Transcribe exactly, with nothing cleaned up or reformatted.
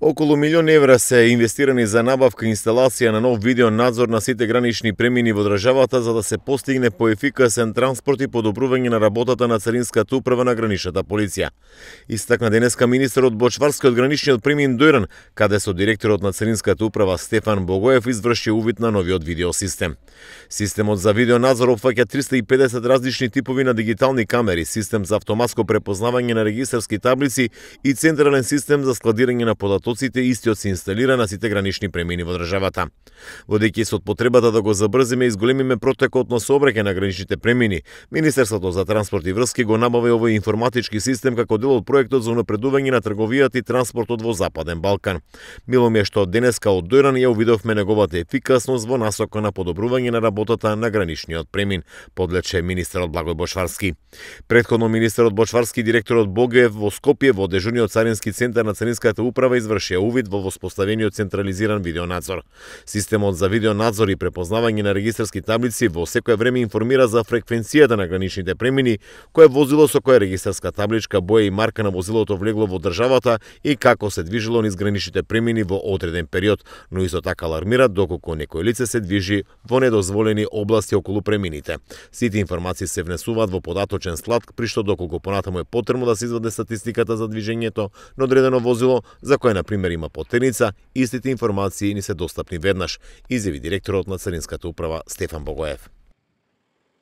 Околу милион евра се инвестирани за набавка и инсталација на нов видео надзор на сите гранични премини во државата за да се постигне поефикасен транспорт и подобрување на работата на Царинската управа на граничната полиција. Истакна денеска министерот Бочварски од граничниот премин Дојран, каде со директорот на Царинската управа Стефан Богоев изврши увид на новиот видео систем. Системот за видео надзор опфаќа триста и педесет различни типови на дигитални камери, систем за автоматско препознавање на регистарски таблици и централен систем за складирање на податоците, истиот се инсталира на сите гранични премини во државата. Водејќи се од потребата да го забрзиме и изголемиме протекот на сообраќај на граничните премини, Министерството за транспорт и врски го набави овој информатички систем како дел од проектот за унапредување на трговијата и транспортот во Западен Балкан. Мило ми е што денеска од Дојран ја увидовме неговата ефикасност во насока на подобрување на работата на граничниот премин, подлече министерот Благој Бочварски. Претходно министерот Бочварски и директорот Богоев во Скопје во дежурниот царински центар на Царинската управа извршија увид во воспоставениот централизиран видеонадзор. Системот за видеонадзор и препознавање на регистарски таблици во секое време информира за фреквенцијата на граничните премини, кое возило со која регистарска табличка, боја и марка на возилото влегло во државата и како се движило низ граничните премини во одреден период, но исто така алармира доколку некој лице се движи во недозволени области околу премините. Сите информации се внесуваат во податочен склад, при што доколку понатаму е потребно да се изваде статистиката за движењето на одредено возило, за кое на пример има потерница, истите информации ни се достапни веднаш, изјави директорот на Царинската управа Стефан Богоев.